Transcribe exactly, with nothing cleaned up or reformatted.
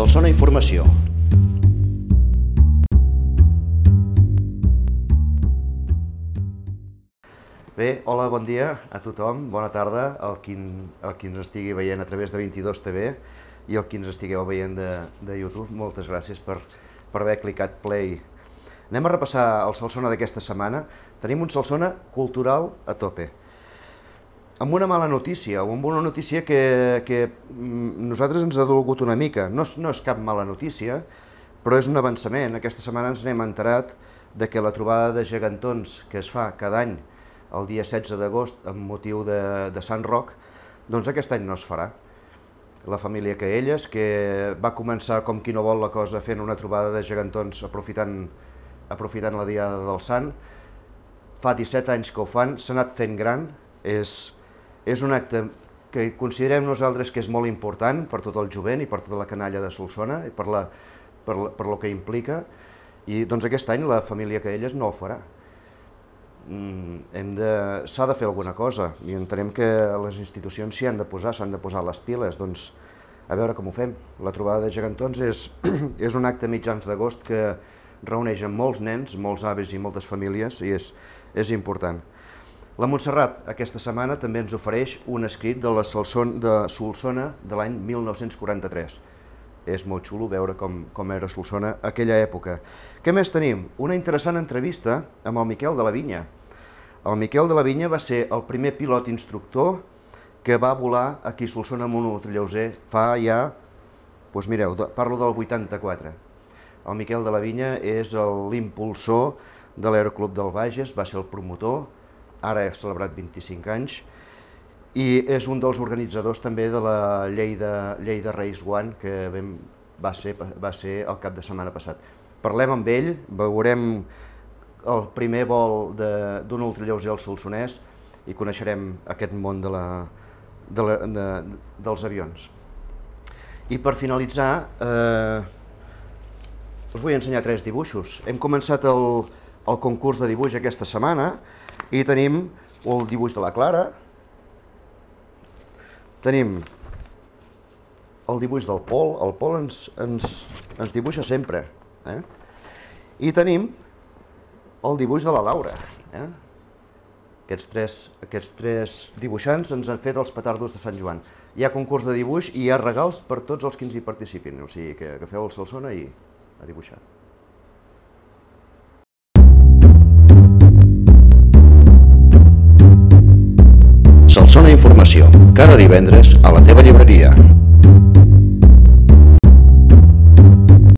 Solsona Informació. Bé, hola, bon dia a tothom, bona tarda, al qui, al qui ens estigui veient a través de vint-i-dos T V i el qui ens estigueu veient de, de YouTube. Moltes gràcies per, per haver clicat play. Anem a repassar el Solsona d'aquesta setmana. Tenim un Solsona cultural a tope. Amb una mala notícia, o amb una notícia que, que nosaltres ens ha dolgut una mica. No és, no és cap mala notícia, però és un avançament. Aquesta setmana ens n'hem enterat de que la trobada de gegantons que es fa cada any el dia setze d'agost amb motiu de, de Sant Roc, doncs aquest any no es farà. La família Caelles, que va començar com qui no vol la cosa fent una trobada de gegantons aprofitant, aprofitant la diada del Sant, fa disset anys que ho fan, s'ha anat fent gran, és, és un acte que considerem nosaltres que és molt important per tot el jovent i per tota la canalla de Solsona i per, la, per, la, per lo que implica, i doncs aquest any la família Caelles no ho farà. Mm, s'ha de fer alguna cosa i entenem que les institucions s'hi han de posar, s'han de posar les piles, doncs a veure com ho fem. La trobada de gegantons és, és un acte mitjans d'agost que reuneix molts nens, molts avis i moltes famílies i és, és important. La Montserrat aquesta setmana també ens ofereix un escrit de la Solsona de, Solsona de l'any mil nou-cents quaranta-tres. És molt xulo veure com, com era Solsona aquella època. Què més tenim? Una interessant entrevista amb el Miquel de la Vinya. El Miquel de la Vinya va ser el primer pilot instructor que va volar aquí a Solsona amb un ultralleuger fa ja, doncs mireu, parlo del vuitanta-quatre. El Miquel de la Vinya és l'impulsor de l'Aeroclub del Bages, va ser el promotor, ara ha celebrat vint-i-cinc anys, i és un dels organitzadors també de la Lleida, Lleida Race One, que vam, va, ser, va ser el cap de setmana passat. Parlem amb ell, veurem el primer vol d'un ultralleuger al Solsonès i coneixerem aquest món de la, de la, de, dels avions. I per finalitzar, eh, us vull ensenyar tres dibuixos. Hem començat el, el concurs de dibuix aquesta setmana i tenim el dibuix de la Clara, tenim el dibuix del Pol, el Pol ens, ens, ens dibuixa sempre, eh? I tenim el dibuix de la Laura. Eh? Aquests, tres, aquests tres dibuixants ens han fet els petardos de Sant Joan. Hi ha concurs de dibuix i hi ha regals per tots els que ens hi participin, o sigui que agafeu el Solsona i a dibuixar. Solsona Informació, cada divendres a la teva llibreria.